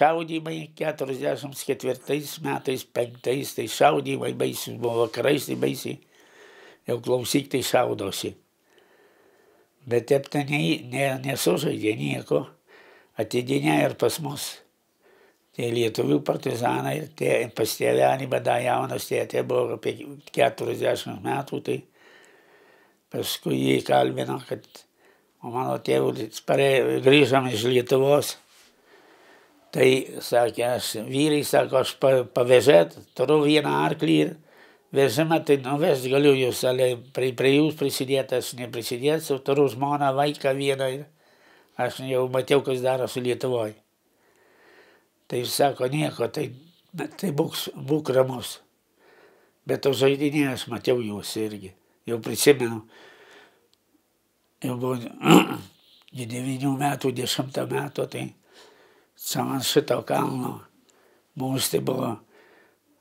šaudymai 44 metais, 5, tai šaudymai baisiai buvo, vakarais tai baisiai, jau klausyk, tai šaudosi. Bet taip tai nesužaidė nieko, atidinė ir pas mus. Tai lietuvių partizanai, pas tėvelį, bada jaunas tėtė buvo apie 40 metų, tai paskui jį kalbino, kad mano tėvulis grįžom iš Lietuvos. Tai sakė, vyrai sako, aš pavežėt, turiu vieną arklį ir vežimą, tai nuvest galiu jūs, prie jūs prisidėti, aš neprisidėsiu, turiu žmoną, vaiką vieną ir aš jau matau, kas darosi Lietuvoje. Tai sako, nieko, tai būk ramus. Bet to žaidinė aš matau jūs irgi. Jau prisimenu, jau buvo 9 metų, 10 metų, tai ant šito kalno mums tai buvo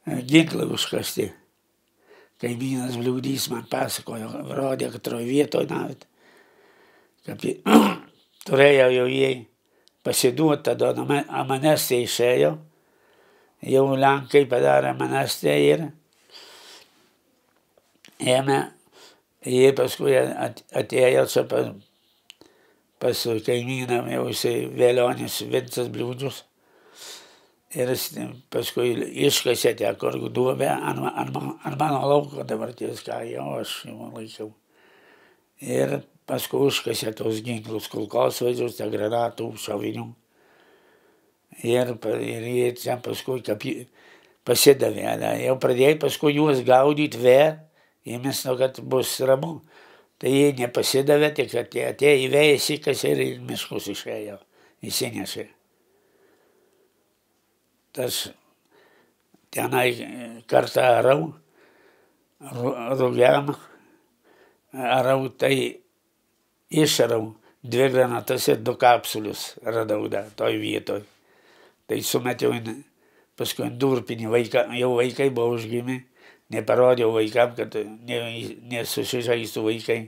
ginklai užkasti. Kaimynas Bliūdys man pasakojo, rodė, kad vietoje nawet, kad turėjo jau jai pasiduoti, tada amanestė išėjo, jau Lenkai padarė amanestę ir ėmė, jie paskui atėjo čia pas kaimyną, jau jisai Velionis Vincas Bliūdžius, ir paskui iškasė tą korgų duobę ant mano lauko, dabar ties ką jau aš jau laikiau. Ir paskui užkasė tos ginklus, kulkosvaidžius, granatų, šovinių. Ir jie čia paskui pasidavė. Jau pradėjo paskui juos gaudyti ėmės nuo, kad bus ramu. Tai jie nepasidavė, tik atėjo į vėjas įkasė ir į miškus išėjo, įsinešė. Tas tenai kartą rugiam, arau, tai išarau 2 granatas ir 2 kapsulius radau toj vietoj. Tai sumetiau paskui durpinį vaiką, jau vaikai buvo užgimę, neparodžiau vaikam, kad nesusižaistų vaikai.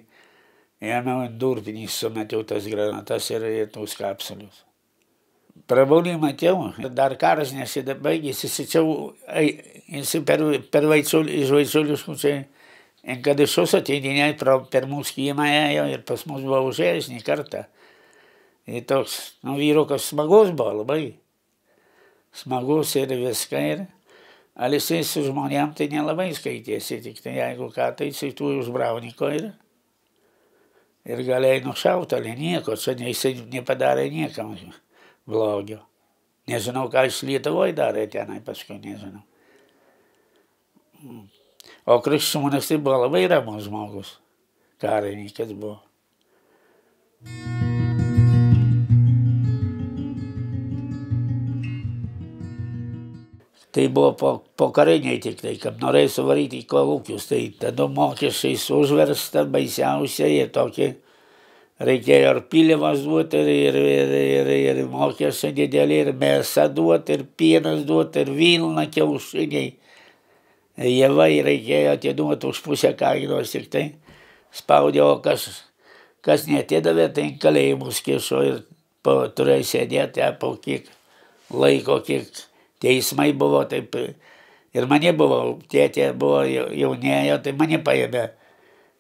Ėmiau durpinį, sumetiau tas granatas ir tos kapsulius. Prabaudį matėjau, dar karas nesibaigėsi, jis per Vaičiuliškų čia kad išus ateidinė per mūsų kiemą ėjo ir pas mus buvo užėjęs ne kartą. Ir toks, vyrukas smagus buvo labai. Smagus ir viską ir. Al jisai su žmonėm tai nelabai skaitėsi, tik tai jeigu ką, tai jisai tų užbrauniko ir galėjai nušauti, ale nieko, čia jisai nepadarė niekam blogio. Nežinau, ką iš Lietuvoje darė tenai, paskui nežinau. O Kriščiūnas tai buvo labai ramus žmogus, karininkas buvo. Tai buvo po kariniai tik tai, kad norėjo suvaryti į kolūkius, tai tada mokesčiais užversta baisiausia ir tokį reikėjo ir pilimas duoti, ir mokesčiai didelį, ir mėsa duoti, ir pienas duoti, ir vilna, kiaušiniai. Javai reikėjo atiduoti už pusę kainos, tik tai spaudė, o kas neatidavė, tai kalėjimus kišo ir turėjo sėdėti po kiek laiko, kiek teismai buvo, taip ir mane buvo, tėtė buvo jaunėjo, tai mane paėmė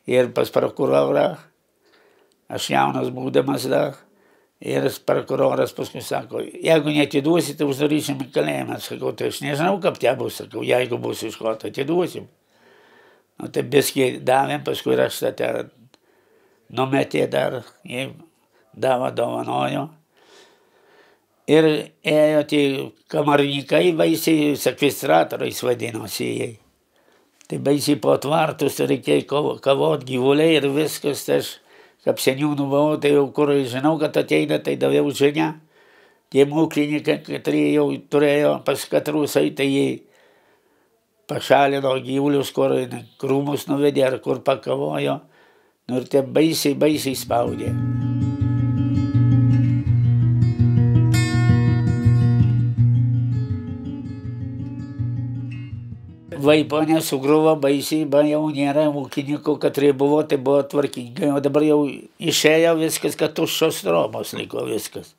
ir pas prokurorą, aš jaunas būdamas dar, ir prokuroras paskui sako, jeigu neatiduosi, tai uždarysim į kalėjimą. Sakau, tai aš nežinau, kaip tie bus, sakau, jeigu bus iš ko, tai atiduosim. Nu, tai biskį davėm, paskui aš tą numetė dar, jie dovanojo. Ir ėjo tie kamarnikai, baisiai sekvestratoriais vadinosi jie. Tai baisiai po tvartus reikėjo kavot gyvuliai ir viskas, tai aš kaip seniūnų buvau, tai jau kur žinau, kad ateina, tai daviau žinią. Tie mūklininkai, katrie jau turėjo pas katrus, tai jie pašalino gyvulius, kur krūmus nuvedė ar kur pakavojo. Nu ir tie baisiai spaudė. Vaiponė sugruvo baisiai, jau nėra ūkininkų, katrie buvo, tai buvo tvarkingai, o dabar jau išėjo viskas, kad tuščios trobos liko viskas.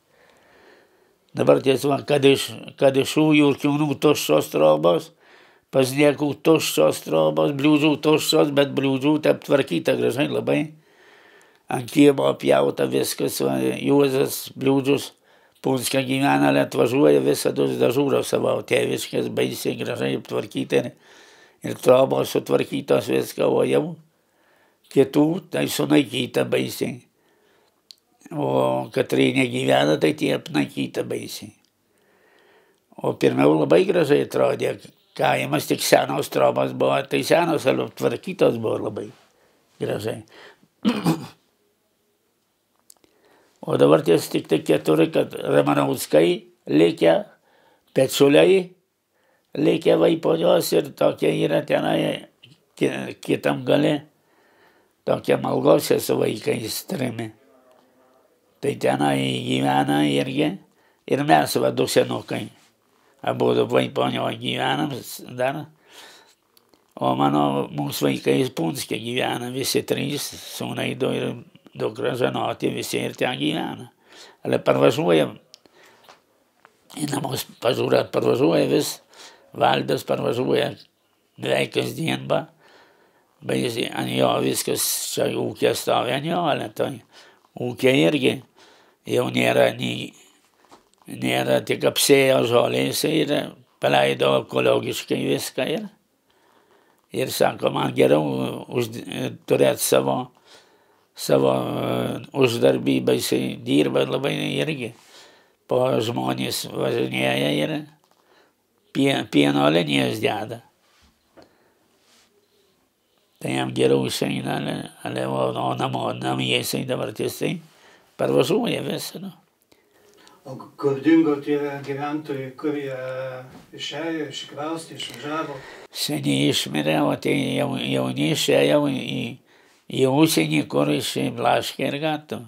Dabar tiesa, kad iš Ujų ir Kiaunų tuščios trobos, pas Niekų tuščios trobos, Bliūdžių tuščios, bet Bliūdžių taip tvarkyta gražiai labai. Ant kiemo pjauta viskas, Juozas Bliūdžius Punske gyvena, atvažiuoja visada dažūro savo tėviškės, baisiai gražiai tvarkyti ir trobos sutvarkytos viską, o jau kitų tai sunaikyta baisiai. O Katrynė gyvena, tai tie apnaikyta baisiai. O pirmiau labai gražiai atrodė, kaimas tik senos trobos buvo, tai senos tvarkytos buvo labai gražiai. O dabar ties tik tai 4, kad Ramanauskai likę, Pečiuliai likę Vaiponios ir tokie yra tenai kitam gale, tokie Malgose su vaikais 3. Tai tenai gyvena irgi ir mes va 2 senukai. Abudu Vaiponioje gyvenam dar. O mūsų vaikais Punske gyvena visi 3, sūnai 2 ir dukra žinoti, visi ir ten gyvena. Ale parvažiuoja, į namus pažiūrėt, parvažiuoja vis, Valdas parvažiuoja beveik kasdien, baisiai ant jo viskas, čia ūkė stovi ant jo, ale tai ūkė irgi jau nėra tik apsėjo žolės ir paleido ekologiškai viską ir sako, man geriau turėti savo uždarbį, baisiai dirba labai irgi. Po žmonės važinėja ir pieno linijas deda. Tai jam geriau išeina, o namie jisai dabar tiesiai parvažiuoja visą. O kur dingo tie gyventojai, kur jie išėjo, iškraustė, išvažiavo? Seniai išmirė, o tai jauni išėjo į užsienį, kur išblaškė ir gatavo.